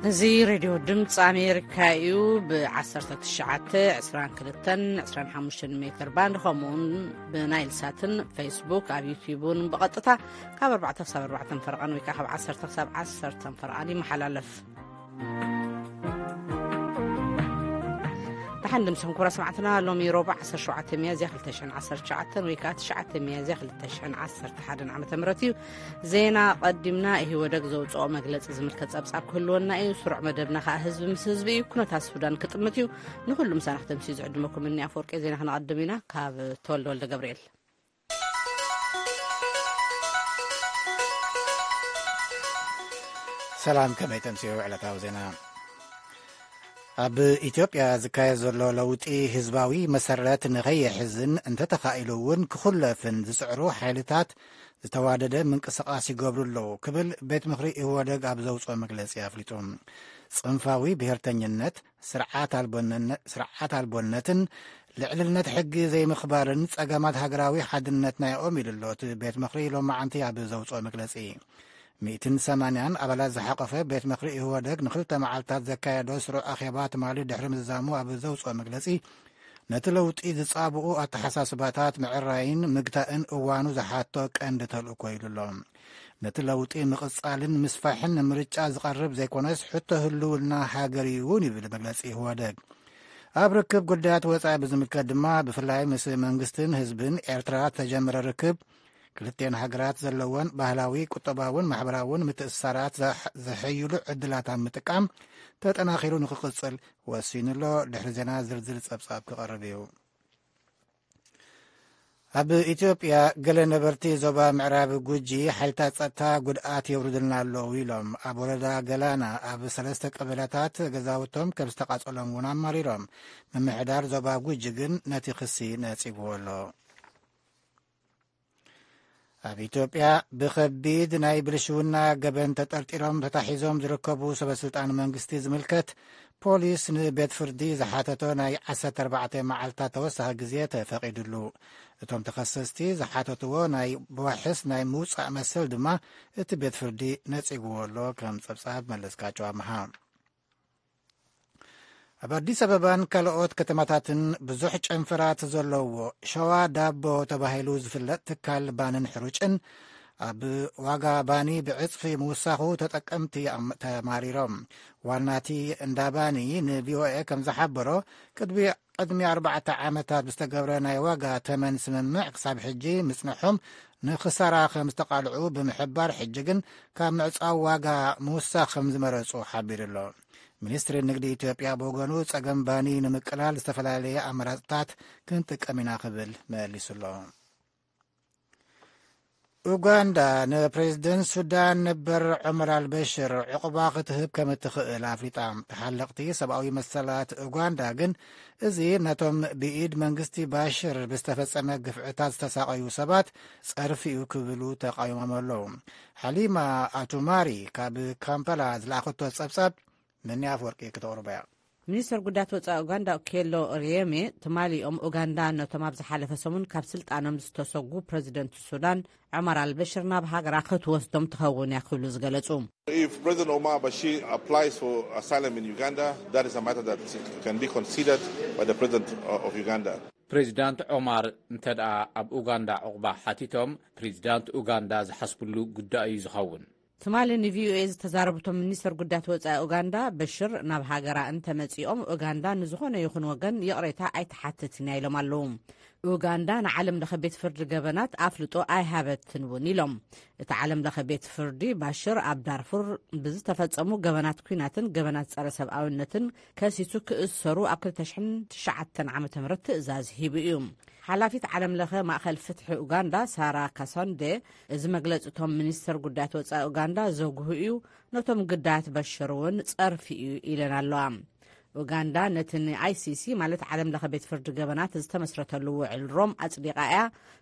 እዚ ሬድዮ ድምፂ ኣሜሪካ እዩ። ብ19፣ 22፣ 25 ሜትር ባንድ፣ ከምኡውን ብናይል ሳትን ፌስቡክ፣ ኣብ ዩቲዩብ እውን ብቐጥታ ካብ ኣርባዕተ ክሳብ ኣርባዕተ ፈረቓን ወይ ከዓ ካብ ዓሰርተ ክሳብ ዓሰርተ ፈረቓን ይመሓላለፍ። ደሓን ድምስኹም ክቡራት ሰማዕትና፣ ሎሚ ሮባ ዓሰርተ ሸውዓተ ሚያዝያ ክልተ ሽሕን ዓሰርተ ትሽዓተን ወይ ከዓ ትሽዓተ ሚያዝያ ክልተ ሽሕን ዓሰርተ ሓደን ዓመተ ምህረት እዩ። ዜና ቀዲምና፣ ኢህወደግ ዘውፅኦ መግለፂ ዝምልከት ፀብፃብ ክህልወና እዩ። ስሩዕ መደብና ከዓ ህዝቢ ምስ ህዝቢ እዩ። ኩነታት ሱዳን ክጥምት እዩ። ንኩሉ ምሳና ክተምስዩ ዝዕድመኩም እኒ ኣፈወርቂ። ዜና ክነቐድም ኢና። ካብ ተወልደ ወልደ ገብርኤል። ሰላም፣ ከመይ ተምስዩ ዕለታዊ ዜና። ኣብ ኢትዮጵያ ዝካየድ ዘሎ ለውጢ ህዝባዊ መሰረት ንኸየሕዝን እንተተኻኢሉ እውን ክኹለፍን ዝጽዕሩ ሓይልታት ዝተዋደደ ምንቅስቓስ ይገብሩ ኣለዉ ክብል ቤት ምኽሪ ኢህወደግ ኣብ ዘውፅኦ መግለፂ ኣፍሊጡ። ጽንፋዊ ብሔርተኝነት፣ ስርዓት ኣልቦነነ-፣ ስርዓት ኣልቦነትን ልዕልነት ሕጊ ዘይምኽባርን ጸገማት ሃገራዊ ሓድነትና እዮም ኢሉ ኣሎ እቲ ቤት ምኽሪ ሎማዓንቲ ኣብ ዘውፅኦ መግለፂ። ሚእትን ሰማንያን ኣባላት ዝሓቆፈ ቤት ምኽሪ ኢህወደግ ንክልተ መዓልታት ዘካየዶ ስሩዕ ኣኼባ ትማሊ ድሕሪ ምዝዛሙ ኣብ ዘውፅኦ መግለፂ፣ ነቲ ለውጢ ዝጻብኡ ኣተሓሳስባታት ምዕራይን ምግታእን እዋኑ ዝሓቶ ቀንዲ ተልእኮ ኢሉ ኣሎ። ነቲ ለውጢ ምቕጻልን ምስፋሕን ንምርጫ ዝቐርብ ዘይኮነስ፣ ሕቶ ህልውና ሃገር እዩ እውን ይብል መግለጺ ኢህወደግ። ኣብ ርክብ ጉዳያት ወጻኢ ብዝምልከት ድማ፣ ብፍላይ ምስ መንግስትን ህዝብን ኤርትራ ተጀመረ ርክብ፣ ክልቲኤን ሃገራት ዘለወን ባህላዊ፣ ቁጠባውን ማሕበራውን ምትእስሳራት ዘሕ-፣ ዘሐይሉ ዕድላት ኣብ ምጥቃም ተጠናኺሩ ንክቕጽል ወሲኑ ኣሎ። ድሕሪ ዜና ዝርዝር ጸብጻብ ክቐርብ እዩ። ኣብ ኢትዮጵያ ገለ ነበርቲ ዞባ ምዕራብ ጉጂ ሓይልታት ጸጥታ ጉድኣት የውርድልና ኣለዉ ኢሎም። ኣብ ወረዳ ገላና ኣብ ሰለስተ ቀበላታት ገዛውቶም ከም ዝተቓጸሎም እውን ኣማሪሮም። ምምሕዳር ዞባ ጉጂ ግን ነቲ ክሲ ነጺግዎ ኣሎ። ኣብ ኢትዮጵያ ብኸቢድ ናይ ብልሽውና ገበን ተጠርጢሮም ተታሒዞም ዝርከቡ ሰበ ስልጣን መንግስቲ ዝምልከት፣ ፖሊስ ንቤት ፍርዲ ዝሓተቶ ናይ ዓሰርተ ኣርባዕተ መዓልታት ተወሳኺ ግዜ ተፈቒዱሉ። እቶም ተኸሰስቲ ዝሓተትዎ ናይ ብዋሕስ ናይ ምውጻእ መሰል ድማ እቲ ቤት ፍርዲ ነጺግዎ ኣሎ። ከም ጸብጻብ መለስካቸው ኣምሃ። ኣብ ኣዲስ ኣበባን ካልኦት ከተማታትን ብዙሕ ጨንፈራት ዘለዎ ሸዋ ዳቦ ተባሂሉ ዝፍለጥ ትካል ባንን ሕሩጭን ኣብ ዋጋ ባኒ ብዕጽፊ ምውሳኹ ተጠቀምቲ ኣም-፣ ተማሪሮም። ዋናቲ እንዳ ባኒ ንቪኦኤ ከም ዝሓበሮ፣ ቅድሚ፣ ቅድሚ ኣርባዕተ ዓመታት ብዝተገብረ ናይ ዋጋ ተመን ስምምዕ ክሳብ ሕጂ ምጽንሖም ንኽሳራ ከም ዝተቓልዑ ብምሕባር፣ ሕጂ ግን ካብ ምዕጻው ዋጋ ምውሳኽ ከም ዝመረጹ ሓቢሩ ኣሎ። ሚኒስትሪ ንግዲ ኢትዮጵያ ብወገኑ፣ ጸገም ባኒ ንምቅላል ዝተፈላለየ ኣማራጽታት ክንጥቀም ኢና ክብል መሊሱ ኣሎ። ኡጋንዳ ንፕሬዝደንት ሱዳን ነበር ዑመር ኣልበሽር ዕቑባ ክትህብ ከም እትኽእል ኣፍሊጣ። ተሓለቕቲ ሰብኣዊ መሰላት ኡጋንዳ ግን፣ እዚ ነቶም ብኢድ መንግስቲ ባሽር ብዝተፈጸመ ግፍዕታት ዝተሳቐዩ ሰባት ጸርፊ እዩ ክብሉ ተቓዊሞም ኣለዉ። ሓሊማ ኣቱማሪ ካብ ካምፓላ ዝለኣኸቶ ጸብጻብ፣ መኒ ኣፍወርቂ ክተቕርቦ እያ። ሚኒስተር ጉዳያት ወጻኢ ኡጋንዳ ኦኬሎ ኦሪየሜ፣ ትማሊ እዮም ኡጋንዳ ነቶም ኣብ ዝሓለፈ ሰሙን ካብ ስልጣኖም ዝተሰጉ ፕረዚደንት ሱዳን ዑመር ኣልበሽር ናብ ሃገራ ክትወስዶም ትኸውን እያ ክብሉ ዝገለጹ። If President Omar Bashir applies for asylum in Uganda, that is a matter that can be considered by the President of Uganda. ፕሬዚዳንት ዑማር እንተ ደኣ ኣብ ኡጋንዳ ዕቑባ ሓቲቶም፣ ፕሬዚዳንት ኡጋንዳ ዝሓስብሉ ጉዳይ እዩ ዝኸውን። ትማሊ ንቪኦኤ ዝተዛረቡ እቶም ሚኒስተር ጉዳያት ወጻኢ ኡጋንዳ፣ በሽር ናብ ሃገራ እንተመጺኦም፣ ኡጋንዳ ንዝኾነ ይኹን ወገን ይቕሬታ ኣይትሓትትን እያ ኢሎም ኣለዉ። ኡጋንዳ ንዓለም ለኸ ቤት ፍርዲ ገበናት ኣፍልጦ ኣይሃበትን እውን ኢሎም። እቲ ዓለም ለኸ ቤት ፍርዲ፣ ባሽር ኣብ ዳርፉር ብዝተፈጸሙ ገበናት ኲናትን ገበናት ጸረ ሰብኣውነትን ከሲሱ ክእሰሩ ኣብ ክልተ ሽሕን ትሽዓተን ዓመተ ምህረት ትእዛዝ ሂቡ እዩ። ሓላፊት ዓለም ለኸ ማእኸል ፍትሒ ኡጋንዳ ሳራ ካሶንዴ፣ እዚ መግለፂ እቶም ሚኒስተር ጉዳያት ወፃኢ ኡጋንዳ ዘጉህ እዩ፣ ነቶም ግዳያት በሽር እውን ፀርፊ እዩ ኢለን ኣለዋ። ኡጋንዳ ነቲ ን ኣይሲሲ ማለት ዓለም ለኸ ቤት ፍርዲ ገበናት ዝተመስረተሉ ውዕል ሮም ኣፅዲቓ እያ።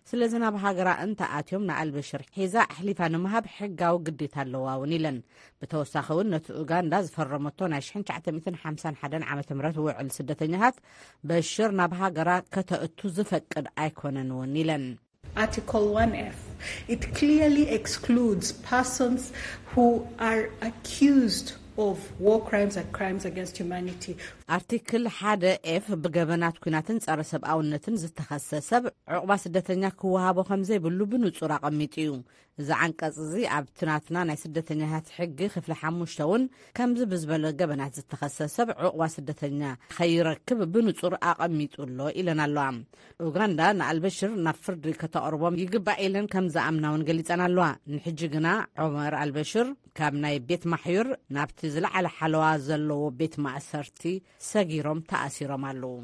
ስለዚ ናብ ሃገራ እንተኣትዮም ንኣልበሽር ሒዛ ኣሕሊፋ ንምሃብ ሕጋዊ ግዴታ ኣለዋ እውን ኢለን። ብተወሳኺ እውን ነቲ ኡጋንዳ ዝፈረመቶ ናይ ሽሕን ትሽዓተ ሚእትን ሓምሳን ሓደን ዓመተ ምህረት ውዕል ስደተኛታት በሽር ናብ ሃገራ ከተእቱ ዝፈቅድ ኣይኮነን እውን ኢለን። Article one F, it clearly excludes persons who are accused of war crimes and crimes against humanity. ኣርቲክል ሓደ ኤፍ ብገበናት ኲናትን ጸረ ሰብኣውነትን ዝተኸሰ ሰብ ዕቑባ ስደተኛ ክወሃቦ ከም ዘይብሉ ብንጹር ኣቐሚጡ እዩ። እዚ ዓንቀጽ እዚ ኣብቲ ናትና ናይ ስደተኛታት ሕጊ ክፍሊ ሓሙሽተ እውን ከምዚ ብዝበለ ገበናት ዝተኸሰ ሰብ ዕቑባ ስደተኛ ከይረክብ ብንጹር ኣቐሚጡ ኣሎ ኢለን ኣለዋ። ኡጋንዳ ንኣልበሽር ናብ ፍርዲ ከተቕርቦም ይግባእ ኢለን ከም ዝኣምና እውን ገሊጸን ኣለዋ። ንሕጂ ግና ዑመር ኣልበሽር ካብ ናይ ቤት ማሕዩር ናብቲ ዝለዓለ ሓለዋ ዘለዎ ቤት ማእሰርቲ ሰጊሮም ተኣሲሮም ኣለዉ።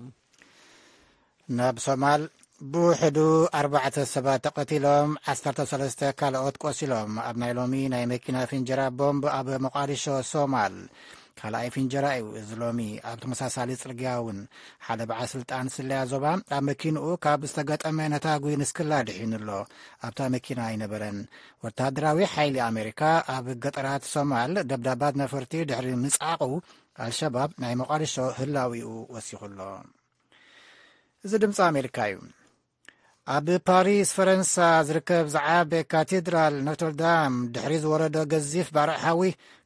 ናብ ሶማል ብውሕዱ ኣርባዕተ ሰባት ተቐቲሎም፣ ዓሰርተ ሰለስተ ካልኦት ቆሲሎም። ኣብ ናይ ሎሚ ናይ መኪና ፍንጀራ ቦምብ ኣብ ሞቓዲሾ ሶማል ካልኣይ ፍንጀራ እዩ። እዚ ሎሚ ኣብ ተመሳሳሊ ጽርግያ እውን ሓደ በዓል ስልጣን ስለያ ዞባ ኣብ መኪንኡ ካብ ዝተገጠመ ነታጒ ንስክላ ድሒኑ ኣሎ። ኣብታ መኪና ኣይነበረን። ወታደራዊ ሓይሊ ኣሜሪካ ኣብ ገጠራት ሶማል ደብዳባት ነፈርቲ ድሕሪ ምጽዓቑ፣ ኣልሸባብ ናይ ሞቓዲሾ ህላዊኡ ወሲኹ ኣሎ። እዚ ድምፂ ኣሜሪካ እዩ። ኣብ ፓሪስ ፈረንሳ ዝርከብ ዝዓበ ካቴድራል ኖትርዳም ድሕሪ ዝወረዶ ገዚፍ ባርዕ ሓዊ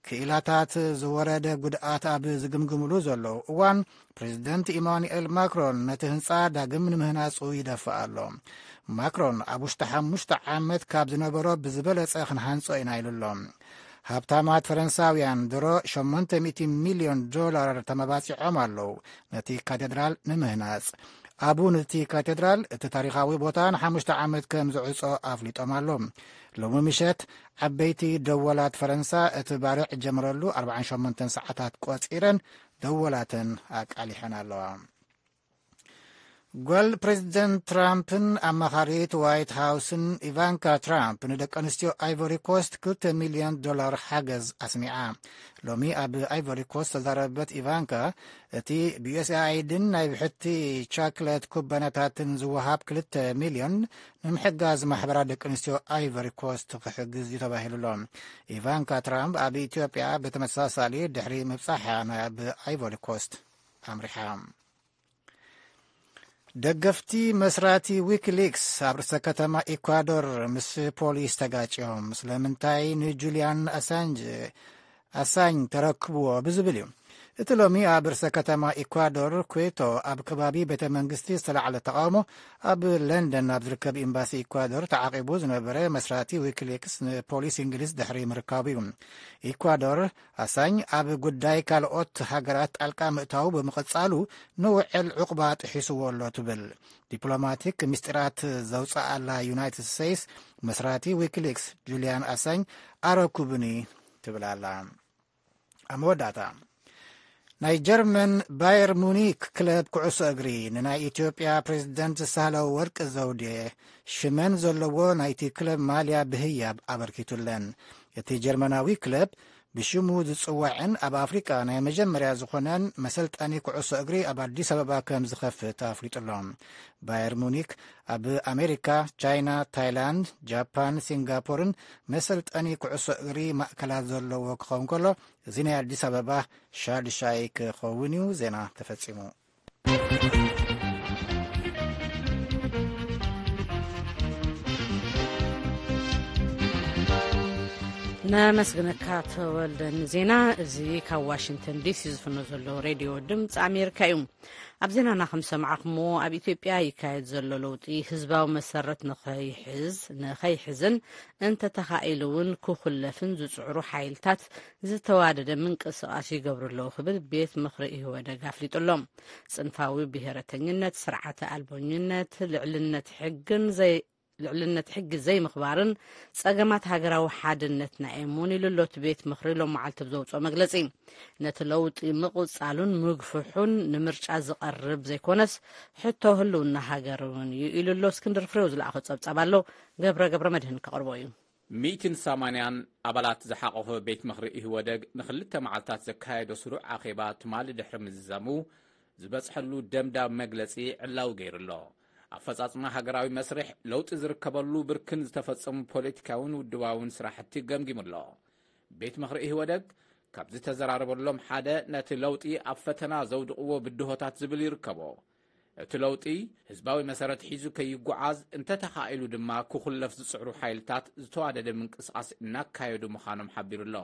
ክኢላታት ዝወረደ ጉድኣት ኣብ ዝግምግምሉ ዘለዉ እዋን፣ ፕሬዚደንት ኢማኑኤል ማክሮን ነቲ ህንፃ ዳግም ንምህናፁ ይደፍእ ኣሎ። ማክሮን ኣብ ውሽጢ ሓሙሽተ ዓመት ካብ ዝነበሮ ብዝበለፀ ክንሃንፆ ኢና ኢሉ ኣሎ። ሃብታማት ፈረንሳውያን ድሮ ሸሞንተ ሚእቲ ሚልዮን ዶላር ተመባፂዖም ኣለዉ ነቲ ካቴድራል ንምህናፅ። ኣቡ ነቲ ካቴድራል እቲ ታሪኻዊ ቦታ ንሓሙሽተ ዓመት ከም ዝዕጾ ኣፍሊጦም ኣሎ። ሎሚ ምሸት ዓበይቲ ደወላት ፈረንሳ እቲ ባርዕ ጀምረሉ ኣርባዓን ሸሞንተን ሰዓታት ቆጺረን ደወላተን ኣቃሊሐን ኣለዋ። ጓል ፕሬዚደንት ትራምፕን ኣማኻሪት ዋይት ሃውስን ኢቫንካ ትራምፕ ንደቂ ኣንስትዮ ኣይቮሪ ኮስት ክልተ ሚልዮን ዶላር ሓገዝ ኣስሚዓ። ሎሚ ኣብ ኣይቮሪ ኮስት ዝተዛረበት ኢቫንካ፣ እቲ ብዩኤስኤኣይድን ናይ ብሕቲ ቻክለት ኩባንያታትን ዝወሃብ ክልተ ሚልዮን ንምሕጋዝ ማሕበራት ደቂ ኣንስትዮ ኣይቮሪ ኮስት ክሕግዝ እዩ ተባሂሉ ኣሎ። ኢቫንካ ትራምፕ ኣብ ኢትዮጵያ ብተመሳሳሊ ድሕሪ ምብጻሓ ናብ ኣይቮሪ ኮስት ኣምሪሓ። ደገፍቲ መስራቲ ዊኪሊክስ ኣብ ርእሰ ከተማ ኢኳዶር ምስ ፖሊስ ተጋጭዮም። ስለምንታይ ንጁልያን ኣሳንጅ ኣሳኝ ተረክብዎ ብዝብል እዩ። እቲ ሎሚ ኣብ ርእሰ ከተማ ኢኳዶር ኩዌቶ ኣብ ከባቢ ቤተ መንግስቲ ዝተላዕለ ተቃውሞ፣ ኣብ ለንደን ኣብ ዝርከብ ኤምባሲ ኢኳዶር ተዓቂቡ ዝነበረ መስራቲ ዊኪሊክስ ንፖሊስ እንግሊዝ ድሕሪ ምርካቡ እዩ። ኢኳዶር ኣሳኝ ኣብ ጉዳይ ካልኦት ሃገራት ጣልቃ ምእታው ብምቕጻሉ ንውዕል ዕቑባ ጥሒስዎ ኣሎ ትብል። ዲፕሎማቲክ ምስጢራት ዘውፅኣላ ዩናይትድ ስቴትስ መስራቲ ዊኪሊክስ ጁልያን ኣሳኝ ኣረኩብኒ ትብል ኣላ። ኣብ መወዳእታ፣ ናይ ጀርመን ባየር ሙኒክ ክለብ ኩዕሶ እግሪ ንናይ ኢትዮጵያ ፕሬዝደንት ሳህለ ወርቅ ዘውዴ ሽመን ዘለዎ ናይቲ ክለብ ማልያ ብህያብ ኣበርኪቱለን። እቲ ጀርመናዊ ክለብ ብሽሙ ዝጽዋዕን ኣብ ኣፍሪቃ ናይ መጀመርያ ዝኾነን መሰልጠኒ ኩዕሶ እግሪ ኣብ ኣዲስ ኣበባ ከም ዝኸፍት ኣፍሊጡ ኣሎ። ባየር ሙኒክ ኣብ ኣሜሪካ፣ ቻይና፣ ታይላንድ፣ ጃፓን፣ ሲንጋፖርን መሰልጠኒ ኩዕሶ እግሪ ማእከላት ዘለዎ ክኸውን ከሎ፣ እዚ ናይ ኣዲስ ኣበባ ሻድሻይ ክኸውን እዩ። ዜና ተፈጺሙ። ነመስግነካ ተወልደ ንዜና እዚ። ካብ ዋሽንግተን ዲሲ ዝፍኖ ዘሎ ሬድዮ ድምፂ ኣሜሪካ እዩ። ኣብ ዜናና ከም ሰማዕኹምዎ፣ ኣብ ኢትዮጵያ ይካየድ ዘሎ ለውጢ ህዝባዊ መሰረት ንኸይሕዝ ንኸይሕዝን እንተተኻኢሉ እውን ክኹለፍን ዝፅዕሩ ሓይልታት ዝተዋደደ ምንቅስቃስ ይገብሩ ኣለዉ ክብል ቤት ምኽሪ ኢህወደግ ኣፍሊጡ ኣሎ። ጽንፋዊ ብሔረተኝነት፣ ስርዓተ ኣልቦኝነት፣ ልዕልነት ሕግን ዘይ ልዕልነት ሕጊ ዘይምኽባርን ጸገማት ሃገራዊ ሓድነትና እዮም እውን ኢሉ ኣሎ እቲ ቤት ምኽሪ ሎም መዓልቲ ብዘውፅኦ መግለጺ። ነቲ ለውጢ ምቕጻሉን ምግፍሑን ንምርጫ ዝቐርብ ዘይኮነስ ሕቶ ህልውና ሃገር እውን እዩ ኢሉ ኣሎ። እስክንድር ፍሬው ዝለኣኾ ጸብጻብ ኣሎ፣ ገብረ ገብረ መድህን ከቕርቦ እዩ። ሚእትን ሰማንያን ኣባላት ዝሓቆፈ ቤት ምኽሪ ኢህወደግ ንኽልተ መዓልታት ዘካየዶ ስሩዕ ኣኼባ ትማሊ ድሕሪ ምዝዛሙ ዝበጽሐሉ ደምዳም መግለጺ ዕላዊ ገይሩ ኣሎ። ኣፈጻጽማ ሃገራዊ መስርሕ ለውጢ ዝርከበሉ ብርክን ዝተፈጸሙ ፖለቲካውን ውድባውን ስራሕቲ ገምጊሙ ኣሎ። ቤት ምኽሪ ኢህወደግ ካብ ዝተዘራረበሎም ሓደ ነቲ ለውጢ ኣብ ፈተና ዘውድቕዎ ብድሆታት ዝብል ይርከቦ። እቲ ለውጢ ህዝባዊ መሰረት ሒዙ ከይጓዓዝ እንተተኻኢሉ ድማ ክኹለፍ ዝጽዕሩ ሓይልታት ዝተዋደደ ምንቅስቓስ እናካየዱ ምዃኖም ሓቢሩ ኣሎ።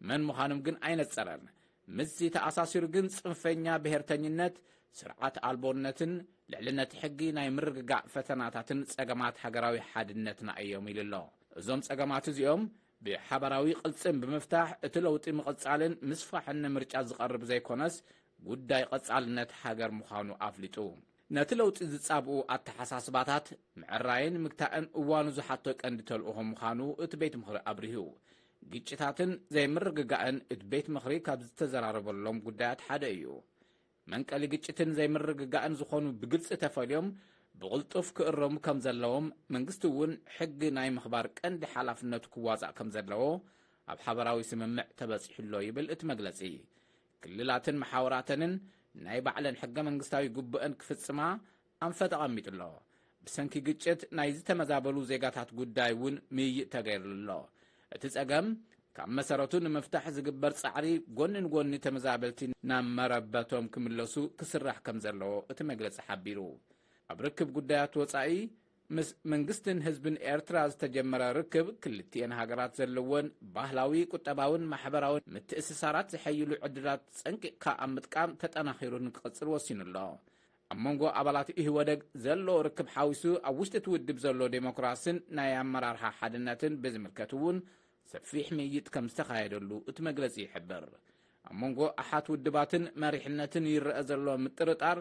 መን ምዃኖም ግን ኣይነጸረን። ምስዚ ተኣሳሲሩ ግን ጽንፈኛ ብሔርተኝነት፣ ስርዓት ኣልቦነትን ልዕልነት ሕጊ ናይ ምርግጋእ ፈተናታትን ጸገማት ሃገራዊ ሓድነትና እዮም ኢሉ ኣሎ። እዞም ጸገማት እዚኦም ብሓባራዊ ቅልጽም ብምፍታሕ እቲ ለውጢ ምቕጻልን ምስፋሕን ንምርጫ ዝቐርብ ዘይኮነስ ጉዳይ ቀጻልነት ሃገር ምዃኑ ኣፍሊጡ። ነቲ ለውጢ ዝጻብኡ ኣተሓሳስባታት ምዕራይን ምግታእን እዋኑ ዝሓቶ ቀንዲ ተልእኾ ምዃኑ እቲ ቤት ምኽሪ ኣብሪሁ። ግጭታትን ዘይምርግጋእን እቲ ቤት ምኽሪ ካብ ዝተዘራረበሎም ጉዳያት ሓደ እዩ። መንቀሊ ግጭትን ዘይምርግጋእን ዝኾኑ ብግልጺ ተፈልዮም ብቕልጡፍ ክእረሙ ከም ዘለዎም፣ መንግስቲ እውን ሕጊ ናይ ምኽባር ቀንዲ ሓላፍነቱ ክዋጻእ ከም ዘለዎ ኣብ ሓበራዊ ስምምዕ ተበጺሑሎ ይብል እቲ መግለጺ። ክልላትን መሓውራተንን ናይ ባዕለን ሕገ መንግስታዊ ግቡእን ክፍጽማ ኣንፈት ኣቐሚጡ ኣሎ። ብሰንኪ ግጭት ናይ ዝተመዛበሉ ዜጋታት ጉዳይ እውን ምይይጥ ተገይርሉ ኣሎ። እቲ ጸገም ካብ መሰረቱ ንምፍታሕ ዝግበር ጻዕሪ፣ ጎኒ ንጎኒ ተመዛበልቲ ናብ መረበቶም ክምለሱ ክስራሕ ከም ዘለዎ እቲ መግለጺ ሓቢሩ። ኣብ ርክብ ጉዳያት ወጻኢ፣ ምስ መንግስትን ህዝብን ኤርትራ ዝተጀመረ ርክብ፣ ክልቲኤን ሃገራት ዘለወን ባህላዊ፣ ቁጠባውን ማሕበራውን ምትእስሳራት ዝሐይሉ ዕድላት ጸንቂቕካ ኣብ ምጥቃም ተጠናኺሩ ንክቕጽል ወሲኑ ኣሎ። ኣብ መንጎ ኣባላት ኢህወደግ ዘሎ ርክብ ሓዊሱ፣ ኣብ ውሽጢ እቲ ውድብ ዘሎ ዴሞክራስን ናይ ኣመራርሓ ሓድነትን ብዝምልከት እውን ሰፊሕ ምይይጥ ከም ዝተኻየደሉ እቲ መግለጺ ይሕብር። ኣብ መንጎ ኣሓት ውድባትን መሪሕነትን ይረአ ዘሎ ምጥርጣር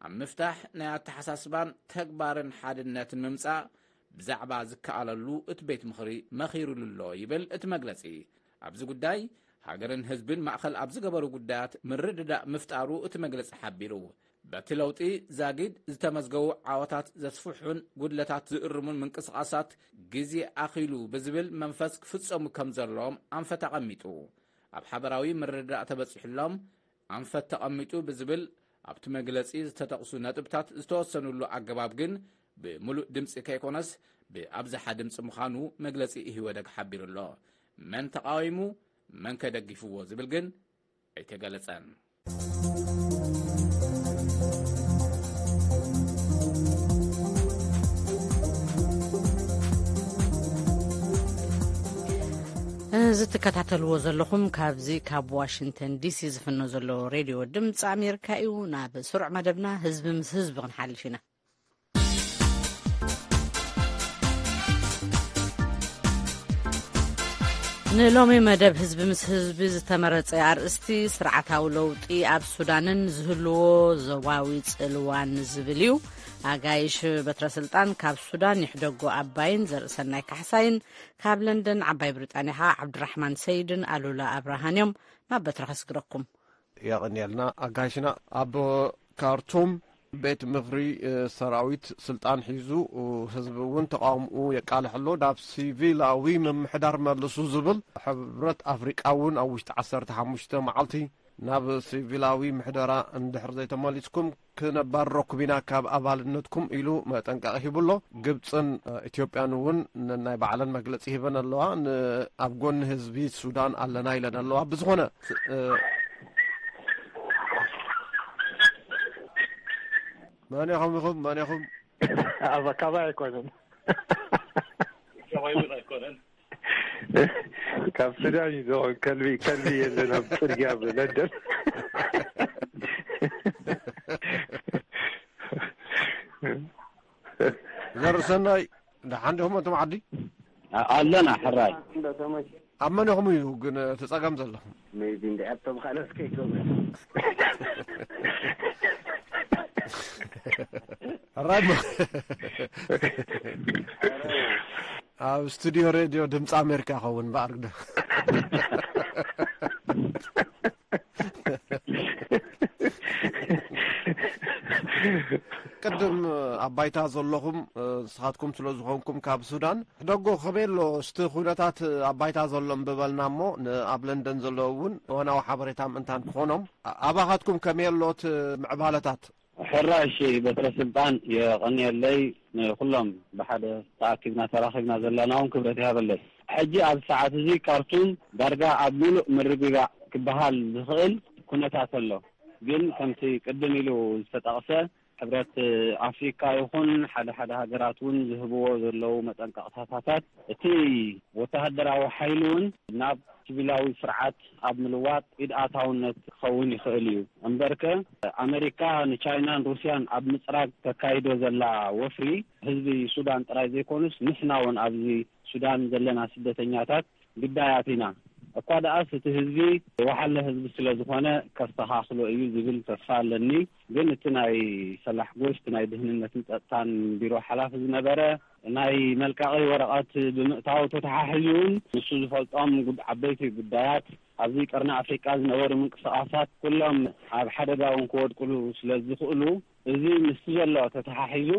ኣብ ምፍታሕ፣ ናይ ኣተሓሳስባን ተግባርን ሓድነት ንምምጻእ ብዛዕባ ዝከኣለሉ እቲ ቤት ምኽሪ መኺሩሉ ኣሎ ይብል እቲ መግለጺ። ኣብዚ ጉዳይ፣ ሃገርን ህዝብን ማእኸል ኣብ ዝገበሩ ጉዳያት ምርድዳእ ምፍጣሩ እቲ መግለጺ ሓቢሩ። በቲ ለውጢ ዛጊድ ዝተመዝገቡ ዓወታት ዘስፍሑን ጉድለታት ዝእርሙን ምንቅስቓሳት ግዜ ኣኺሉ ብዝብል መንፈስ ክፍጸሙ ከም ዘለዎም ኣንፈት ኣቐሚጡ። ኣብ ሓበራዊ ምርድዳእ ተበጺሑሎም ኣንፈት ተቐሚጡ ብዝብል ኣብቲ መግለጺ ዝተጠቕሱ ነጥብታት ዝተወሰኑሉ ኣገባብ ግን ብምሉእ ድምጺ ከይኮነስ ብኣብዝሓ ድምጺ ምዃኑ መግለጺ ኢህወደግ ሓቢሩ ኣሎ። መን ተቓዊሙ፣ መን ከደጊፍዎ ዝብል ግን ኣይተገለጸን። እዚ ትከታተልዎ ዘለኹም ካብዚ ካብ ዋሽንግተን ዲሲ ዝፍኖ ዘሎ ሬድዮ ድምፂ ኣሜሪካ እዩ። ናብ ስሩዕ መደብና ህዝቢ ምስ ህዝቢ ክንሓልፍ ኢና። ንሎሚ መደብ ህዝቢ ምስ ህዝቢ ዝተመረጸ ኣርእስቲ ስርዓታዊ ለውጢ ኣብ ሱዳንን ዝህልዎ ዞባዊ ጽልዋን ዝብል እዩ። ኣጋይሽ በትረ ስልጣን ካብ ሱዳን ይሕደጎ ኣባይን ዘርእሰናይ ካሕሳይን፣ ካብ ለንደን ዓባይ ብሪጣንያ ኸኣ ዓብድራሕማን ሰይድን ኣሉላ ኣብርሃን እዮም። ናብ በትረ ከስግረኩም። የቐንየልና ኣጋይሽና። ኣብ ካርቱም ቤት ምኽሪ፣ እ፣ ሰራዊት ስልጣን ሒዙ፣ እ፣ ህዝቢ እውን ተቃውምኡ የቃልሕ ኣሎ። ናብ ሲቪላዊ ምምሕዳር መልሱ ዝብል፣ ሕብረት ኣፍሪቃ እውን ኣብ ውሽጢ ዓሰርተ ሓሙሽተ መዓልቲ ናብ ሲቪላዊ ምሕደራ እንድሕር ዘይተመሊስኩም ክነባርረኩም ኢና ካብ ኣባልነትኩም ኢሉ መጠንቀቒ ሂቡ ኣሎ። ግብፅን፣ እ፣ ኢትዮጵያን እውን ን-፣ ናይ ባዕለን መግለፂ ሂበን ኣለዋ። ን-፣ ኣብ ጎኒ ህዝቢ ሱዳን ኣለና ኢለን ኣለዋ። ብዝኾነ፣ እ፣ መን ኢኹም ኢኹም? መን ኢኹም? ኣብ ኣካባቢ ኣይኮነን። ካብ ሱዳን እዩ ዝኸውን። ከልቢ፣ ከልቢ የለን ኣብ ጽርግያ ብለንደን። ዘርሰናይ፣ ደሓን ዲኹም ኣንቶም ዓዲ? ኣ-፣ ኣለና፣ ሕራይ። ኣብ መን ኢኹም እዩ ግን እቲ ጸገም ዘለኹም? ሜቢ እንድዒ ኣብቶም ካልኦት ከይኮኑ። ሕራይ እሞ። ኣብ ስቱዲዮ ሬድዮ ድምፂ ኣሜሪካ ይኸውን እምበኣር ግደ። ቅድም ኣብ ባይታ ዘለኹም፣ እ፣ ንስኻትኩም ስለ ዝኾንኩም ካብ ሱዳን፣ ሕደጎ ከመይ ኣሎ? እስቲ ኩነታት ኣብ ባይታ ዘሎ እምብበልና እሞ፣ ን-፣ ኣብ ለንደን ዘለዉ እውን እዋናዊ ሓበሬታ ምእንታን ክኾኖም። ኣ-፣ ኣባኻትኩም ከመይ ኣሎ እቲ ምዕባለታት? ሕራይ፣ እሺ፣ በትረ ስልጣን የቐንየለይ። ንኹሎም ብሓደ ተኣኪብና ተራኺብና ዘለና እውን ክብረት ይሃበለይ። ሕጂ ኣብዚ ሰዓት እዚ ካርቱም ዳርጋ ኣብ ምሉእ ምርግጋእ ክበሃል ዝኽእል ኩነታት ኣሎ። ግን ከምቲ ቅድም ኢሉ ዝተጠቕሰ፣ ሕብረት ኣፍሪካ ይኹን ሓደ ሓደ ሃገራት እውን ዝህብዎ ዘለዉ መጠንቀቕታታት፣ እቲ ወተሃደራዊ ሓይሊ እውን ናብ ሲቪላዊ ስርዓት ኣብ ምልዋጥ ኢድ ኣታውነት ክኸውን ይኽእል እዩ። እምበርከ ኣመሪካ ንቻይናን ሩስያን ኣብ ምጽራግ ተካይዶ ዘላ ወፍሪ ህዝቢ ሱዳን ጥራይ ዘይኮኑስ ንሕና እውን ኣብዚ ሱዳን ዘለና ስደተኛታት ግዳያት ኢና። እኳ ደኣስ እቲ ህዝቢ ወሓለ ህዝቢ ስለ ዝኾነ ከስተኻኽሎ እዩ ዝብል ተስፋ ኣለኒ። ግን እቲ ናይ ሰላሕ ጎሽ፣ እቲ ናይ ድህንነትን ጸጥታን ቢሮ ሓላፊ ዝነበረ ናይ መልቃቒ ወረቐት ብምእታው ተተሓሒዙ እውን ንሱ ዝፈልጦም ጉድ-፣ ዓበይቲ ጉዳያት ኣብዚ ቀርኒ ኣፍሪቃ ዝነበሩ ምንቅስቓሳት ኩሎም ኣብ ሓደጋ እውን ክወድቁሉ ስለ ዝኽእሉ፣ እዚ ምስቲ ዘሎ ተተሓሒዙ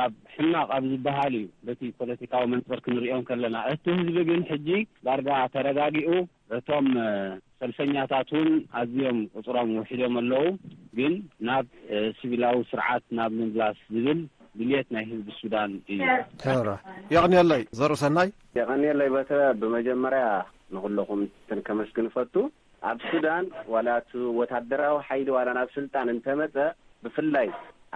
ኣብ ሕማቕ ኣብ ዝበሃል እዩ። በቲ ፖለቲካዊ መንጽር ክንሪኦም ከለና፣ እቲ ህዝቢ ግን ሕጂ ዳርጋ ተረጋጊኡ፣ እቶም ሰልፈኛታት እውን ኣዝዮም ቁጽሮም ውሒዶም ኣለዉ። ግን ናብ ሲቪላዊ ስርዓት ናብ ምምላስ ዝብል ድልየት ናይ ህዝቢ ሱዳን እዩ። ሕራ። የቕንየለይ ዘሩ ሰናይ። የቐንየለይ በተ። ብመጀመርያ ንኹለኹም ከመስግን እፈቱ። ኣብ ሱዳን ዋላ እቲ ወታደራዊ ሓይሊ ዋላ ናብ ስልጣን እንተመጸ፣ ብፍላይ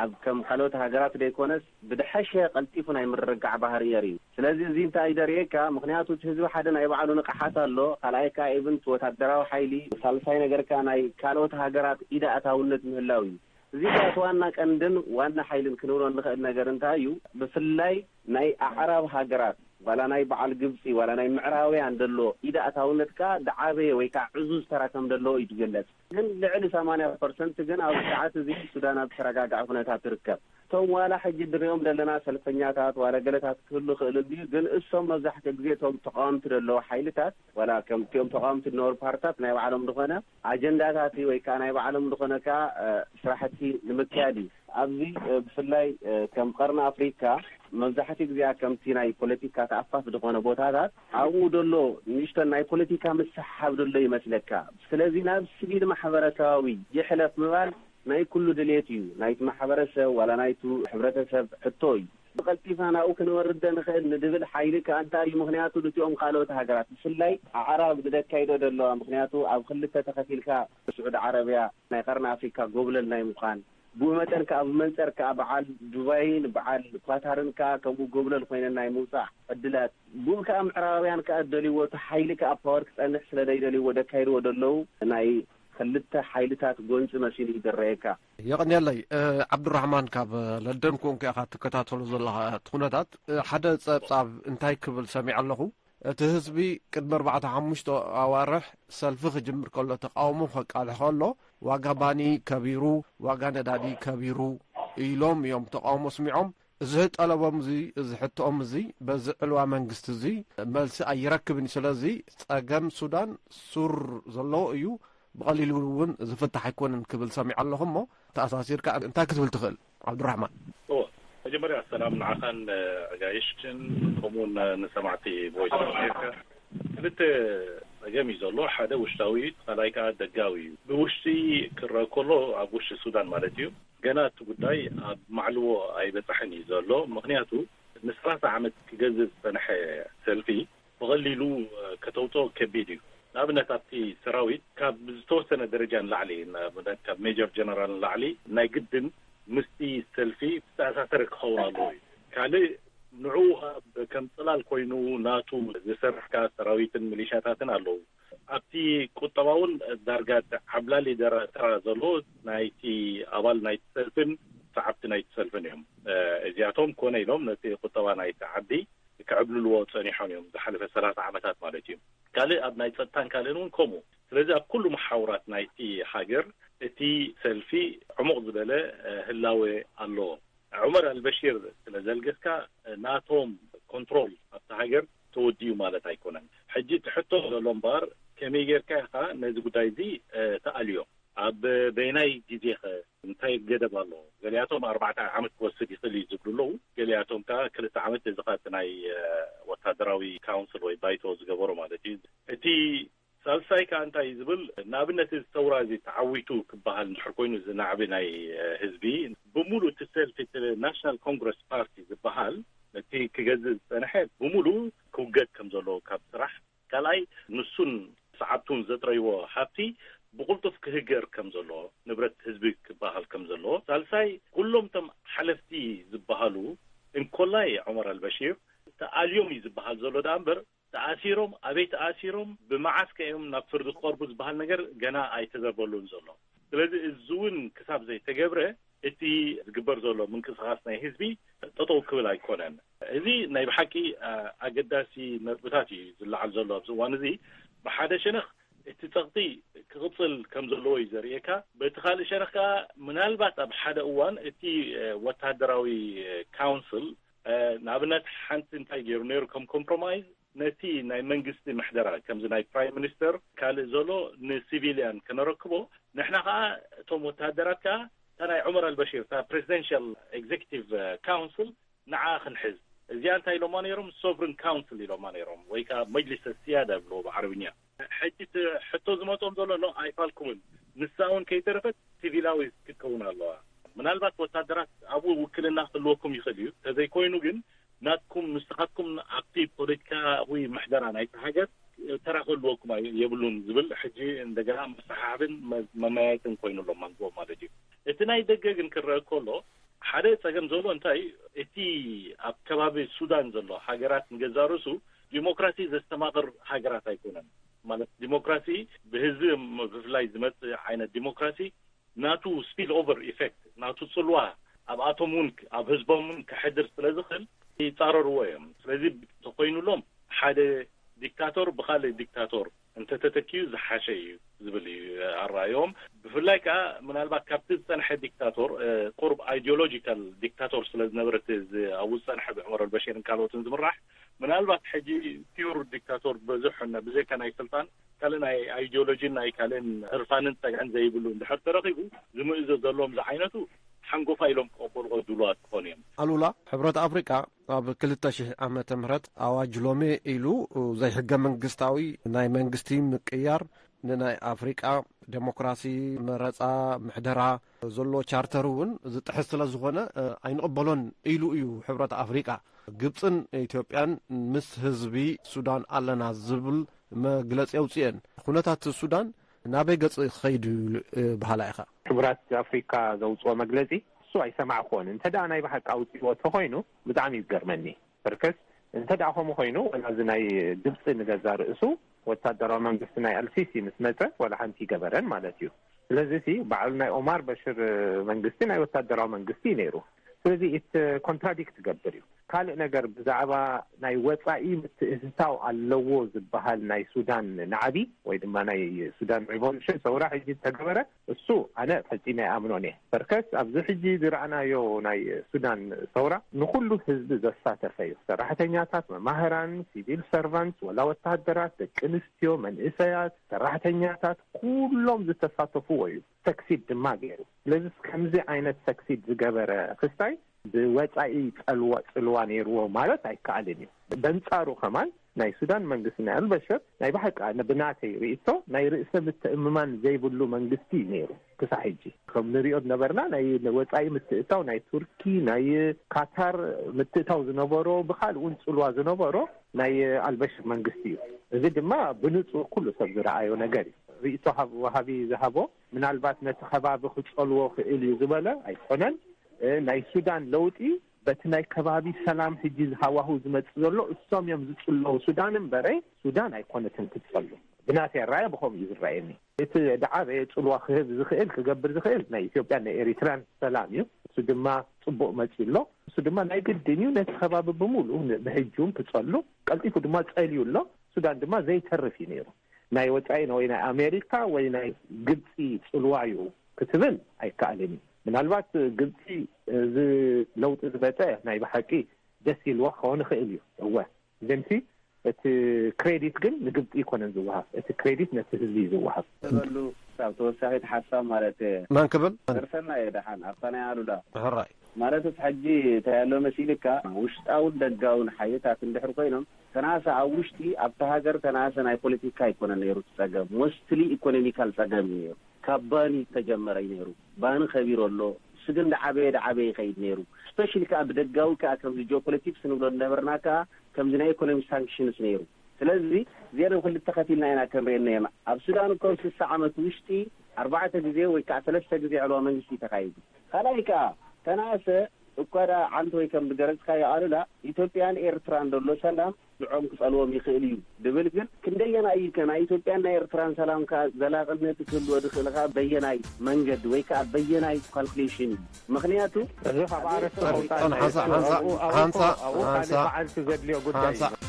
ኣብ ከም ካልኦት ሃገራት ዘይኮነስ ብድሐሸ ቀልጢፉ ናይ ምርግጋዕ ባህሪ የርኢ። ስለዚ እዚ እንታይ ደርእየካ? ምኽንያቱ እቲ ህዝቢ ሓደ ናይ ባዕሉ ንቕሓት ኣሎ፣ ካልኣይ ከኣ ኢቭን እቲ ወታደራዊ ሓይሊ፣ ሳልሳይ ነገርካ ናይ ካልኦት ሃገራት ኢድ ኣእታውነት ምህላው እዩ። እዚ ከኣ እቲ ዋና ቀንድን ዋና ሓይልን ክንብሎ እንኽእል ነገር እንታይ እዩ? ብፍላይ ናይ ኣዕራብ ሃገራት ዋላ ናይ በዓል ግብጺ ዋላ ናይ ምዕራብያን ዘሎ ኢድ ኣእታውነት ከኣ ዝዓበየ ወይ ከኣ ዕዙዝ ተራ ከም ዘለዎ እዩ ዝግለጽ። ግን ልዕሊ ሰማንያ ፐርሰንት ግን ኣብዚ ሰዓት እዚ ሱዳን ኣብ ዝተረጋግዐ ኩነታት ትርከብ። እቶም ዋላ ሕጂ እንሪኦም ዘለና ሰልፈኛታት ዋላ ገለታት ክህሉ ይኽእል እንድዩ፣ ግን እሶም መብዛሕትኡ ግዜ እቶም ተቃወምቲ ዘለዉ ሓይልታት ዋላ ከምቲኦም ተቃወምቲ ዝነበሩ ፓርትታት ናይ ባዕሎም ዝኾነ ኣጀንዳታት ወይ ከዓ ናይ ባዕሎም ዝኾነ ከዓ ስራሕቲ ንምክያድ እዩ። ኣብዚ ብፍላይ ከም ቀርኒ ኣፍሪካ መብዛሕትኡ ግዜኣ ከምቲ ናይ ፖለቲካ ተኣፋፍ ዝኾነ ቦታታት ኣብኡ ዘሎ ንእሽተን ናይ ፖለቲካ ምስሕሓብ ዘሎ ይመስለካ። ስለዚ ናብ ስቪል ማሕበረሰባዊ ይሕለፍ ምባል ናይ ኩሉ ድሌት እዩ። ናይቲ ማሕበረሰብ ዋላ ናይቲ ሕብረተሰብ ሕቶ እዩ። ብቐልጢፍና ናብኡ ክንወርድ ንኽእል ንድብል ሓይሊ ከኣ እንታይ እዩ? ምኽንያቱ እቲኦም ካልኦት ሃገራት ብፍላይ ኣዕራብ ንደካይዶ ዘለዋ፣ ምኽንያቱ ኣብ ክልተ ተኸፊልካ ስዑዲ ዓረብያ ናይ ቀርኒ ኣፍሪካ ጎብለል ናይ ምዃን፣ ብኡ መጠን ከኣ ብመንጸር ከኣ በዓል ዱባይን በዓል ኳታርን ከኣ ከምኡ ጎብለል ኮይነን ናይ ምውጻእ ዕድላት፣ ብኡ ከኣ ምዕራባውያን ከኣ ደልይዎ እቲ ሓይሊ ከኣ ፓወር ክጸንሕ ስለ ዘይደልይዎ ደካይድዎ ደለዉ ናይ ክልተ ሓይልታት ጎንጺ መሲሉ እዩ ዝረኣየካ። የቐንየለይ። ዓብዱራሕማን፣ ካብ ለንደን ኮንካ ኢኻ ትከታተሎ ዘለኻ እቲ ኩነታት። ሓደ ጸብጻብ እንታይ ክብል ሰሚዐ ኣለኹ? እቲ ህዝቢ ቅድሚ ኣርባዕተ ሓሙሽተ ኣዋርሕ ሰልፊ ክጅምር ከሎ፣ ተቃውሞ ከቃልሕ ከሎ፣ ዋጋ ባኒ ከቢሩ፣ ዋጋ ነዳዲ ከቢሩ ኢሎም እዮም ተቃውሞ ኣስሚዖም። እዚ ጠለቦም እዚ፣ እዚ ሕቶኦም እዚ በዚ ዕልዋ መንግስቲ እዚ መልሲ ኣይረክብን እዩ። ስለዚ ጸገም ሱዳን ሱር ዘለዎ እዩ፣ ብቐሊሉ እውን ዝፍታሕ ኣይኮንን ክብል ሰሚዐ ኣለኹ። እሞ ተኣሳሲርካ እንታይ ክትብል ትኽእል ዓብዱራሕማን? እዎ፣ መጀመርያ ሰላም ንዓኻን ኣጋይሽን ከምኡውን ንሰማዕቲ ቮይስ ኦፍ ኣሜሪካ። ክልተ ጸገም እዩ ዘሎ። ሓደ ውሽጣዊ እዩ፣ ካልኣይ ከዓ ደጋዊ እዩ። ብውሽጢ ክረአ ከሎ ኣብ ውሽጢ ሱዳን ማለት እዩ፣ ገና እቲ ጉዳይ ኣብ ማዕልዎ ኣይበጻሕን እዩ ዘሎ። ምኽንያቱ ንሰላሳ ዓመት ክገዝእ ዝጸንሐ ሰልፊ ብቐሊሉ ከተውፅኦ ከቢድ እዩ። ንኣብነት ኣብቲ ሰራዊት ካብ ዝተወሰነ ደረጃ ንላዕሊ፣ ንኣብነት ካብ ሜጀር ጀነራል ንላዕሊ ናይ ግድን ምስቲ ሰልፊ ዝተኣሳሰረ ክኸውን ኣለዎ እዩ። ካልእ ንዕኡ ኣብ ከም ፅላል ኮይኑ ናቱ ዝሰርሕ ከኣ ሰራዊትን ሚሊሻታትን ኣለዉ። ኣብቲ ቁጠባ እውን ዳርጋ ዓብላሊ ደረ-፣ ተራ ዘለዎ ናይቲ ኣባል ናይቲ ሰልፍን ሰዓብቲ ናይቲ ሰልፍን እዮም። እ፣ እዚኣቶም ኮነ ኢሎም ነቲ ቁጠባ ናይቲ ዓዲ ክዕብልልዎ ጸኒሖም እዮም፣ ዝሓለፈ ሰላሳ ዓመታት ማለት እዩ። ካልእ ኣብ ናይ ጸጥታን ካልእን እውን ከምኡ። ስለዚ ኣብ ኩሉ መሓውራት ናይቲ ሃገር እቲ ሰልፊ ዕሙቕ ዝበለ፣ እ፣ ህላወ ኣለዎ። ዑመር ኣልበሺር ስለ ዘልገስካ፣ እ፣ ናቶም ኮንትሮል ኣብቲ ሃገር ተወዲኡ ማለት ኣይኮነን። ሕጂ እቲ ሕቶ ዘሎ እምበኣር ከመይ ጌርካ ኢኻ ነዚ ጉዳይ እዚ፣ እ፣ ተኣልዮ? ኣብ በየናይ ግዜኸ እንታይ ገደብ ኣለዎ? ገሊኣቶም ኣርባዕተ ዓመት ክወስድ ይኽእል እዩ ዝብሉ ኣለዉ። ገሊኣቶም ከኣ ክልተ ዓመት፣ እዚ ኸኣ እቲ ናይ፣ እ፣ ወታደራዊ ካውንስል ወይ ባይቶ ዝገበሮ ማለት እዩ። እቲ ሳልሳይ ከኣ እንታይ እዩ ዝብል፣ ንኣብነት እዚ ሰውራ እዚ ተዓዊቱ ክበሃል እንድሕር ኮይኑ፣ እዚ ናዕቢ ናይ፣ እ፣ ህዝቢ፣ ብምሉእ እቲ ሰልፊ፣ እቲ ናሽናል ኮንግረስ ፓርቲ ዝበሃል፣ ነቲ ክገዝእ ዝጸንሐ ብምሉእ ክውገድ ከም ዘለዎ ካብ ስራሕ፣ ካልኣይ ንሱን ሰዓብቱን ዘጥረይዎ ሃብቲ ብቕልጡፍ ክህገር ከም ዘለዎ፣ ንብረት ህዝቢ ክበሃል ከም ዘለዎ፣ ሳልሳይ ኩሎም እቶም ሓለፍቲ ዝበሃሉ እንኮላይ ዑመር ኣልበሺር ተኣልዮም እዩ ዝበሃል ዘሎ ደኣ እምበር፣ ተኣሲሮም፣ ኣበይ ተኣሲሮም፣ ብመዓስ ከ እዮም ናብ ፍርዲ ክቐርቡ ዝበሃል ነገር ገና ኣይተዘርበሉን ዘሎ። ስለዚ እዚ እውን ክሳብ ዘይተገብረ እቲ ዝግበር ዘሎ ምንቅስቓስ ናይ ህዝቢ ጠጠው ክብል ኣይኮነን። እዚ ናይ ብሓቂ ኣገዳሲ ነጥብታት እዩ ዝለዓል ዘሎ ኣብዚ እዋን እዚ። ብሓደ ሸነኽ እቲ ጸቕጢ ክቕጽል ከም ዘለዎ እዩ ዘርእየካ። በቲ ካልእ ሸነኽ ከኣ ምናልባት ኣብ ሓደ እዋን እቲ ወታደራዊ ካውንስል ንኣብነት ሓንቲ እንታይ ገይሩ ነይሩ ከም ኮምፕሮማይዝ ነቲ ናይ መንግስቲ ምሕደራ ከምዚ ናይ ፕራይም ሚኒስተር ካልእ ዘሎ ንሲቪልያን ከነረክቦ፣ ንሕና ከኣ እቶም ወታደራት ከኣ እታ ናይ ዑመር ኣልበሺር እታ ፕሬዚደንሻል ኤግዜክቲቭ ካውንስል ንዓ ክንሕዝ። እዚኣ እንታይ ኢሎማ ነይሮም? ሶቨርን ካውንስል ኢሎማ ነይሮም፣ ወይ ከዓ መጅሊስ ሲያዳ ብሎ ብዓረብኛ። ሕጂ እቲ ሕቶ ዝመጾም ዘሎ ኖ ኣይፋልኩምን፣ ንሳ እውን ከይተረፈት ሲቪላዊ ክትከውን ኣለዋ። ምናልባት ወታደራት ኣብኡ ውክልና ክህልወኩም ይኽእል እዩ፣ ተዘይኮይኑ ግን ናትኩም ንስኻትኩም ኣብቲ ፖለቲካዊ ምሕደራ ናይቲ ሃገር ተራ ክህልወኩም ኣይ- የብሉን ዝብል ሕጂ እንደገና መሰሓሕብን መ- መመያየጥን ኮይኑ ኣሎ መንጎ ማለት እዩ። እቲ ናይ ደገ ግን ክረአ ከሎ ሓደ ጸገም ዘሎ እንታይ እቲ ኣብ ከባቢ ሱዳን ዘሎ ሃገራት ንገዛ ርእሱ ዲሞክራሲ ዘስተማቕር ሃገራት ኣይኮነን። ማለት ዲሞክራሲ ብህዝቢ ምፍልላይ ዝመጽእ ዓይነት ዲሞክራሲ ናቱ ስፒል ኦቨር ኢፌክት ናቱ ጽልዋ ኣብኣቶም እውን ኣብ ህዝቦም እውን ከሕድር ስለ ዝኽእል ይጻረርዎ እዮም። ስለዚ ተኮይኑሎም ሓደ ዲክታቶር ብኻልእ ዲክታቶር እንተተተኪዩ ዝሓሸ እዩ ዝብል እዩ ኣረኣዮም። ብፍላይ ከዓ ምናልባት ካብቲ ዝፀንሐ ዲክታቶር ቁርብ ኣይዲዮሎጂካል ዲክታቶር ስለ ዝነበረ እቲ ኣብዚ ዝፀንሐ ብዑመር ኣልበሽርን ካልኦትን ዝምራሕ ምናልባት ሕጂ ፒውር ዲክታቶር በዝሑ ብዘይካ ናይ ስልጣን ካልእ ናይ ኣይዲዮሎጂን ናይ ካልእን ህርፋንን ፀግዕን ዘይብሉ እንድሕር ተረኺቡ ዝምእዘዘሎም ዝዓይነቱ ሓንጎፋ ኢሎም ክቐበልዎ ድሉዋት ክኾኑ እዮም። ኣሉላ፣ ሕብረት ኣፍሪቃ ኣብ ክልተ ሽሕ ዓመተ ምህረት ኣዋጅ ሎሜ ኢሉ ዘይሕገ መንግስታዊ ናይ መንግስቲ ምቅያር ንናይ ኣፍሪቃ ዴሞክራሲ፣ መረፃ፣ ምሕደራ ዘሎ ቻርተር እውን ዝጥሕስ ስለ ዝኾነ ኣይንቕበሎን ኢሉ እዩ ሕብረት ኣፍሪቃ። ግብፅን ኢትዮጵያን ምስ ህዝቢ ሱዳን ኣለና ዝብል መግለፂ ኣውፅኤን። ኩነታት ሱዳን ናበይ ገፅ ክኸይድ እዩ በሃላ ኢኻ? ሕቡራት ኣፍሪካ ዘውፅኦ መግለፂ እሱ ኣይሰማዕኩዎን። እንተ ደኣ ናይ ብሓቂ ኣውፅእዎ ተኾይኑ ብጣዕሚ እዩ ዝገርመኒ። በርከስ እንተ ደኣ ከምኡ ኮይኑ ወላ እዚ ናይ ግብፂ ንገዛ ርእሱ ወታደራዊ መንግስቲ ናይ ኣልሲሲ ምስ መፀ ወላ ሓንቲ ይገበረን ማለት እዩ። ስለዚ ሲ ባዕሉ ናይ ኦማር በሽር መንግስቲ ናይ ወታደራዊ መንግስቲ እዩ ነይሩ። ስለዚ ኢት ኮንትራዲክት ትገብር እዩ። ካልእ ነገር ብዛዕባ ናይ ወፃኢ ምትእትታው ኣለዎ ዝበሃል ናይ ሱዳን ናዕቢ ወይ ድማ ናይ ሱዳን ሪቮሉሽን ሰውራ ሕጂ ዝተገበረ እሱ ኣነ ፈጺመ ኣይኣምኖን እየ። በርከስ ኣብዚ ሕጂ ዝረኣናዮ ናይ ሱዳን ሰውራ ንኹሉ ህዝቢ ዘሳተፈ እዩ። ሰራሕተኛታት፣ መማህራን፣ ሲቪል ሰርቫንት፣ ወላ ወታደራት፣ ደቂ ኣንስትዮ፣ መንእሰያት፣ ሰራሕተኛታት ኩሎም ዝተሳተፍዎ እዩ። ሰክሲድ ድማ ገይሩ። ስለዚ ከምዚ ዓይነት ሰክሲድ ዝገበረ ክስታይ ብወፃኢ ፀልዋ ፅልዋ ነይርዎ ማለት ኣይከኣልን እዩ። በንፃሩ ከማን ናይ ሱዳን መንግስቲ ናይ ኣልበሽር ናይ ብሓቂ ብናተይ ርእቶ ናይ ርእሰ ምትእምማን ዘይብሉ መንግስቲ እዩ ነይሩ። ክሳዕ ሕጂ ከም ንሪኦ ዝነበርና ናይ ወፃኢ ምትእታው ናይ ቱርኪ ናይ ካታር ምትእታው ዝነበሮ ብካልእ እውን ፅልዋ ዝነበሮ ናይ ኣልበሽር መንግስቲ እዩ። እዚ ድማ ብንፁር ኩሉ ሰብ ዝረኣዮ ነገር እዩ። ርእቶ ሃብ- ወሃቢ ዝሃቦ ምናልባት ነቲ ከባቢ ክፀልዎ ክእል እዩ ዝበለ ኣይኮነን። እ፣ ናይ ሱዳን ለውጢ በቲ ናይ ከባቢ ሰላም ሕጂ ዝሃዋሁ ዝመጽእ ዘሎ እሶም እዮም ዝጽለዉ ሱዳን እምበረ ሱዳን ኣይኮነትን ክትጸሉ። ብናተይ ኣረኣያ ብኸምኡ እዩ ዝረኣየኒ። እቲ ደዓበየ ጽልዋ ክህብ ዝኽእል ክገብር ዝኽእል ናይ ኢትዮጵያን ናይ ኤሪትራን ሰላም እዩ። እሱ ድማ ጽቡቕ መጺኡ ኣሎ። እሱ ድማ ናይ ግድን እዩ ነቲ ከባቢ ብምሉኡ ን- ብሕጂ እውን ክጸሉ ቀልጢፉ ድማ ጸልዩ ኣሎ። ሱዳን ድማ ዘይተርፍ እዩ ነይሩ። ናይ ወጻኢ ወይ ናይ ኣሜሪካ ወይ ናይ ግብፂ ጽልዋ እዩ ክትብል ኣይከኣልን እዩ። ምናልባት ግብፂ እዚ ለውጢ ዝመፀ ናይ ብሓቂ ደስ ኢልዋ ክኸውን ይኽእል እዩ። እወ ግንሲ እቲ ክሬዲት ግን ንግብፂ ይኮነን ዝወሃብ፣ እቲ ክሬዲት ነቲ ህዝቢ እዩ ዝወሃብ። በሉ ካብ ተወሳኺት ሓሳብ ማለት እየ። መን ክብል? ደርሰና እየ ደሓን ኣብታ ናይ ኣሉላ ሕራይ ማለት እቲ ሕጂ እንታይ ኣሎ መሲልካ ውሽጣውን ደጋውን ሓይልታት እንድሕር ኮይኖም ከናሰ ኣብ ውሽጢ ኣብቲ ሃገር ከናሰ ናይ ፖለቲካ ኣይኮነ ነይሩ እቲ ፀገም ሞስትሊ ኢኮኖሚካል ፀገም እዩ ነይሩ። ካብ ባኒ ዝተጀመረ እዩ ነይሩ። ባኒ ከቢሩ ኣሎ። ስግን ዳዓበየ ዳዓበየ ይኸይድ ነይሩ። ስፔሻሊ ከዓ ብደጋዊ ከዓ ከምዚ ጂኦፖለቲክስ ንብሎ ዝነበርና ከዓ ከምዚ ናይ ኢኮኖሚ ሳንክሽንስ ነይሩ። ስለዚ እዚአን ክልተ ከፊልና ኢና ክንሪኤን ነርና። ኣብ ሱዳን እኮ ኣብ ስሳ ዓመት ውሽጢ ኣርባዕተ ግዜ ወይ ከዓ ሰለስተ ግዜ ዕልዋ መንግስቲ እዩ ተኻይዱ። ካልኣይ ከዓ ተናእሰ እኳ ደኣ ዓንተ ወይ ከም ዝገለጽካዮ ኣሉላ፣ ኢትዮጵያን ኤርትራን ዘሎ ሰላም ንዕኦም ክጸልዎም ይኽእል እዩ ድብል፣ ግን ክንደየናይ እዩ ከ ናይ ኢትዮጵያን ናይ ኤርትራን ሰላም ከኣ ዘላቕነት ክህልዎ ዝኽእል ከኣ በየናይ መንገዲ ወይ ከኣ በየናይ ካልኩሌሽን እዩ? ምኽንያቱ እዚ ካብ ኣርእስቲ ምውጻእ ሓንሳ- ሓንሳ- ኣብኡ- ኣብኡ- ሓንሳ- ኣብኡ ካልእ ሓንሳ- በዓልቲ ዘድልዮ ጉዳይ ሓንሳ- እዩ።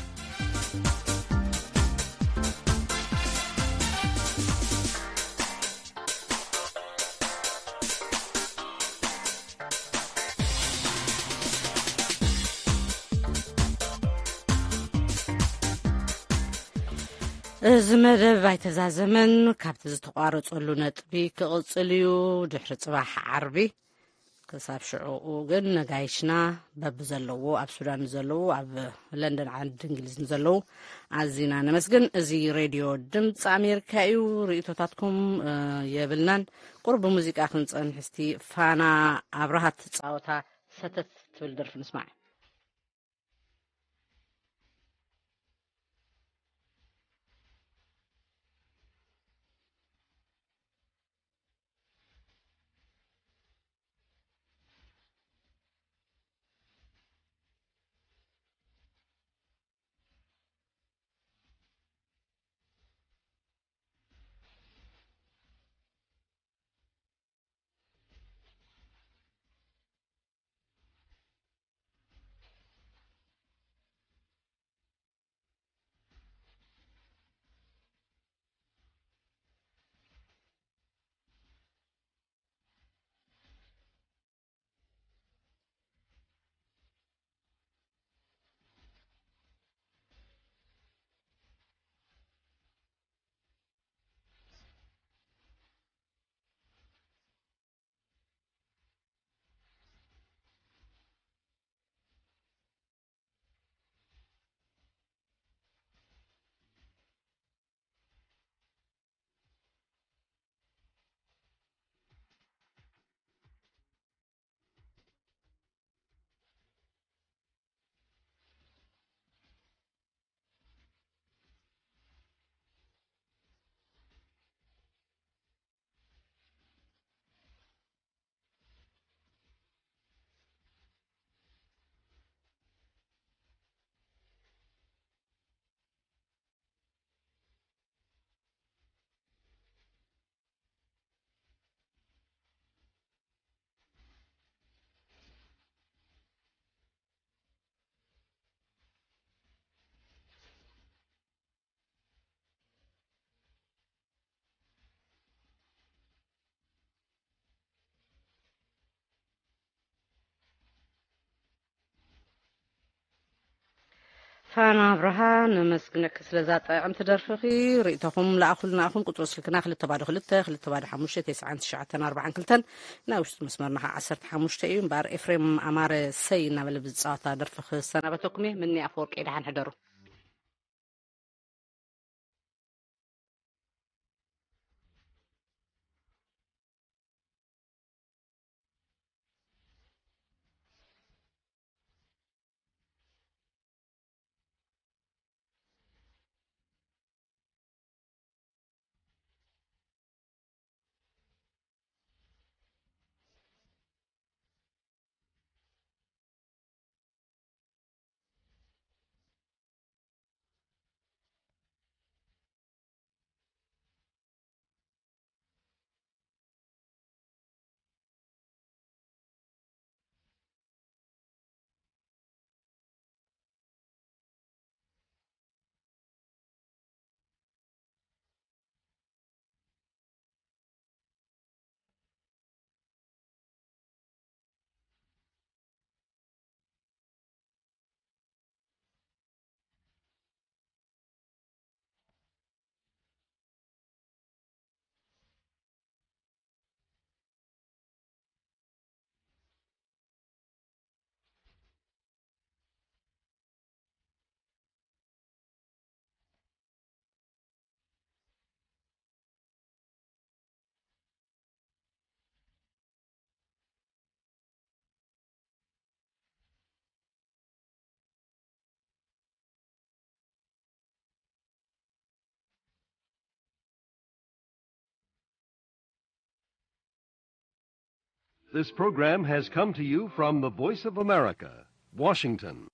እዚ መደብ ኣይተዛዘመን። ካብቲ ዝተቋረጸሉ ነጥቢ ክቕጽል እዩ። ድሕሪ ጽባሕ ዓርቢ ክሳብ ሽዑኡ ግን ነጋይሽና በብዘለዎ፣ ኣብ ሱዳን ዘለዉ፣ ኣብ ለንደን ዓዲ እንግሊዝ ንዘለዉ ኣዚና ነመስግን። እዚ ሬድዮ ድምፂ ኣሜሪካ እዩ። ርእይቶታትኩም፣ እ፣ የብልናን። ቁሩብ ብሙዚቃ ክንጸንሕ እስቲ። ፋና ኣብርሃ ትጻወታ ሰተት ትብል ደርፊ ንስማዕ። ፋና ኣብርሃ፣ ነመስግነኪ ስለዛ ጥዕምቲ ደርፍኺ። ርእይቶኹም ለኣኹልና ኢኹም። ቁጽሪ ስልክና ክልተ ባዶ ክልተ፣ ክልተ ባዶ ሓሙሽተ፣ ተስዓን ትሽዓተን ኣርባዓን ክልተን። ናይ ውሽጢ መስመርና ኸዓ ዓሰርተ ሓሙሽተ እዩ። እምበኣር ኤፍሬም ኣማረ ሰይ እናበለ ብዝጻወታ ደርፊ ክሰናበተኩም እየ። ምኒ ኣፈወርቂ፣ ደሓን ሕደሩ። This program has come to you from the Voice of America, Washington.